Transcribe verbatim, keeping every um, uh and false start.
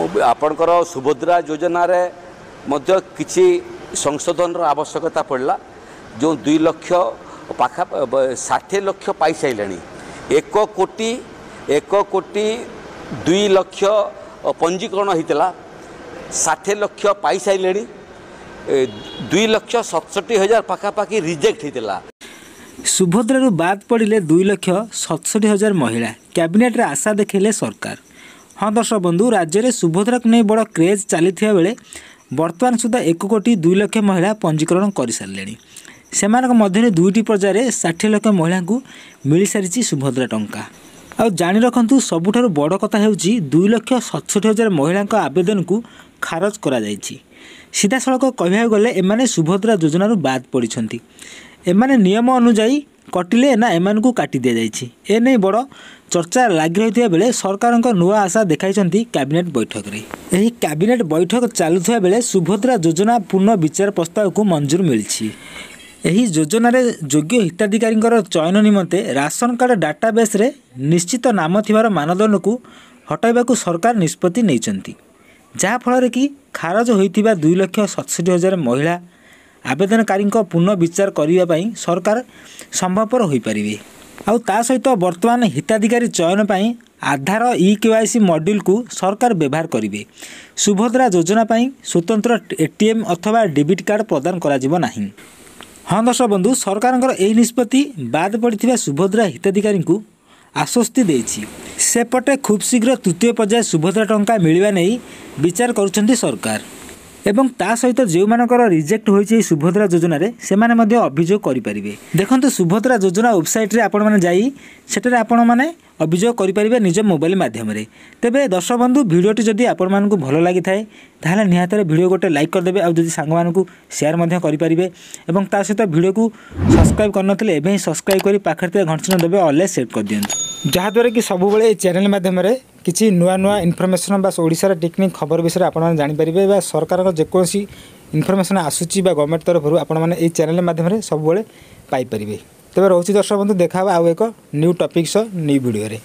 ଆପଣଙ୍କର ସୁଭଦ୍ରା ଯୋଜନାରେ ମଧ୍ୟ କିଛି ସଂଶୋଧନର ଆବଶ୍ୟକତା ପଡ଼ିଲା। ଯେଉଁ ଦୁଇ ଲକ୍ଷ ପାଖା ଷାଠିଏ ଲକ୍ଷ ପାଇସାରିଲେଣି, ଏକ କୋଟି ଏକ କୋଟି ଦୁଇ ଲକ୍ଷ ପଞ୍ଜୀକରଣ ହୋଇଥିଲା, ଷାଠିଏ ଲକ୍ଷ ପାଇସାରିଲେଣି, ଦୁଇ ଲକ୍ଷ ସତଷଠି ହଜାର ପାଖାପାଖି ରିଜେକ୍ଟ ହେଇଥିଲା। ସୁଭଦ୍ରାରୁ ବାଦ୍ ପଡ଼ିଲେ ଦୁଇ ଲକ୍ଷ ସତଷଠି ହଜାର ମହିଳା, କ୍ୟାବିନେଟ୍ରେ ଆଶା ଦେଖାଇଲେ ସରକାର। ହଁ ଦର୍ଶକ ବନ୍ଧୁ, ରାଜ୍ୟରେ ସୁଭଦ୍ରାକୁ ନେଇ ବଡ଼ କ୍ରେଜ୍ ଚାଲିଥିବା ବେଳେ ବର୍ତ୍ତମାନ ସୁଦ୍ଧା ଏକ କୋଟି ଦୁଇ ଲକ୍ଷ ମହିଳା ପଞ୍ଜୀକରଣ କରିସାରିଲେଣି। ସେମାନଙ୍କ ମଧ୍ୟରେ ଦୁଇଟି ପର୍ଯ୍ୟାୟରେ ଷାଠିଏ ଲକ୍ଷ ମହିଳାଙ୍କୁ ମିଳିସାରିଛି ସୁଭଦ୍ରା ଟଙ୍କା। ଆଉ ଜାଣି ରଖନ୍ତୁ, ସବୁଠାରୁ ବଡ଼ କଥା ହେଉଛି ଦୁଇ ଲକ୍ଷ ସତଷଠି ହଜାର ମହିଳାଙ୍କ ଆବେଦନକୁ ଖାରଜ କରାଯାଇଛି। ସିଧାସଳଖ କହିବାକୁ ଗଲେ ଏମାନେ ସୁଭଦ୍ରା ଯୋଜନାରୁ ବାଦ୍ ପଡ଼ିଛନ୍ତି। ଏମାନେ ନିୟମ ଅନୁଯାୟୀ କଟିଲେ ନା ଏମାନଙ୍କୁ କାଟି ଦିଆଯାଇଛି, ଏନେଇ ବଡ଼ ଚର୍ଚ୍ଚା ଲାଗି ରହିଥିବା ବେଳେ ସରକାରଙ୍କ ନୂଆ ଆଶା ଦେଖାଇଛନ୍ତି କ୍ୟାବିନେଟ୍ ବୈଠକରେ। ଏହି କ୍ୟାବିନେଟ୍ ବୈଠକ ଚାଲୁଥିବା ବେଳେ ସୁଭଦ୍ରା ଯୋଜନା ପୁନଃ ବିଚାର ପ୍ରସ୍ତାବକୁ ମଞ୍ଜୁର ମିଳିଛି। ଏହି ଯୋଜନାରେ ଯୋଗ୍ୟ ହିତାଧିକାରୀଙ୍କର ଚୟନ ନିମନ୍ତେ ରାସନ କାର୍ଡ଼ ଡାଟାବେସ୍ରେ ନିଶ୍ଚିତ ନାମ ଥିବାର ମାନଦଣ୍ଡକୁ ହଟାଇବାକୁ ସରକାର ନିଷ୍ପତ୍ତି ନେଇଛନ୍ତି, ଯାହାଫଳରେ କି ଖାରଜ ହୋଇଥିବା ଦୁଇ ଲକ୍ଷ ସତଷଠି ହଜାର ମହିଳା ଆବେଦନକାରୀଙ୍କ ପୁନଃ ବିଚାର କରିବା ପାଇଁ ସରକାର ସମ୍ଭବପର ହୋଇପାରିବେ। ଆଉ ତା ସହିତ ବର୍ତ୍ତମାନ ହିତାଧିକାରୀ ଚୟନ ପାଇଁ ଆଧାର ଇ କେ ୱାଇ ସି ମଡ୍ୟୁଲକୁ ସରକାର ବ୍ୟବହାର କରିବେ। ସୁଭଦ୍ରା ଯୋଜନା ପାଇଁ ସ୍ୱତନ୍ତ୍ର ଏ ଟି ଏମ୍ ଅଥବା ଡେବିଟ୍ କାର୍ଡ଼ ପ୍ରଦାନ କରାଯିବ ନାହିଁ। ହଁ ଦର୍ଶକ ବନ୍ଧୁ, ସରକାରଙ୍କର ଏହି ନିଷ୍ପତ୍ତି ବାଦ୍ ପଡ଼ିଥିବା ସୁଭଦ୍ରା ହିତାଧିକାରୀଙ୍କୁ ଆଶ୍ୱସ୍ତି ଦେଇଛି। ସେପଟେ ଖୁବ୍ ଶୀଘ୍ର ତୃତୀୟ ପର୍ଯ୍ୟାୟ ସୁଭଦ୍ରା ଟଙ୍କା ମିଳିବା ନେଇ ବିଚାର କରୁଛନ୍ତି ସରକାର, ଏବଂ ତା ସହିତ ଯେଉଁମାନଙ୍କର ରିଜେକ୍ଟ ହୋଇଛି ଏହି ସୁଭଦ୍ରା ଯୋଜନାରେ, ସେମାନେ ମଧ୍ୟ ଅଭିଯୋଗ କରିପାରିବେ। ଦେଖନ୍ତୁ, ସୁଭଦ୍ରା ଯୋଜନା ୱେବସାଇଟ୍ରେ ଆପଣମାନେ ଯାଇ ସେଠାରେ ଆପଣମାନେ ଅଭିଯୋଗ କରିପାରିବେ ନିଜ ମୋବାଇଲ ମାଧ୍ୟମରେ। ତେବେ ଦର୍ଶକ ବନ୍ଧୁ, ଭିଡ଼ିଓଟି ଯଦି ଆପଣମାନଙ୍କୁ ଭଲ ଲାଗିଥାଏ ତାହେଲେ ନିହାତି ଭିଡ଼ିଓ ଗୋଟେ ଲାଇକ୍ କରିଦେବେ, ଆଉ ଯଦି ସାଙ୍ଗମାନଙ୍କୁ ସେୟାର ମଧ୍ୟ କରିପାରିବେ, ଏବଂ ତା ସହିତ ଭିଡ଼ିଓକୁ ସବସ୍କ୍ରାଇବ୍ କରିନଥିଲେ ଏବେ ହିଁ ସବସ୍କ୍ରାଇବ୍ କରି ପାଖରେ ଥିବା ଘଣ୍ଟ ଚିହ୍ନ ଦେବେ, ଅଲ୍ରେ ସେଟ୍ କରିଦିଅନ୍ତୁ, ଯାହାଦ୍ୱାରା କି ସବୁବେଳେ ଏହି ଚ୍ୟାନେଲ୍ ମାଧ୍ୟମରେ କିଛି ନୂଆ ନୂଆ ଇନଫର୍ମେସନ୍ ବା ଓଡ଼ିଶାର ଟେକ୍ନିକ୍ ଖବର ବିଷୟରେ ଆପଣମାନେ ଜାଣିପାରିବେ, ବା ସରକାରଙ୍କ ଯେକୌଣସି ଇନଫର୍ମେସନ୍ ଆସୁଛି ବା ଗଭର୍ଣ୍ଣମେଣ୍ଟ ତରଫରୁ ଆପଣମାନେ ଏହି ଚ୍ୟାନେଲ୍ ମାଧ୍ୟମରେ ସବୁବେଳେ ପାଇପାରିବେ। ତେବେ ରହୁଛି ଦର୍ଶକ ବନ୍ଧୁ, ଦେଖା ହେବ ଆଉ ଏକ ନ୍ୟୁ ଟପିକ୍ ସହ ନ୍ୟୁ ଭିଡ଼ିଓରେ।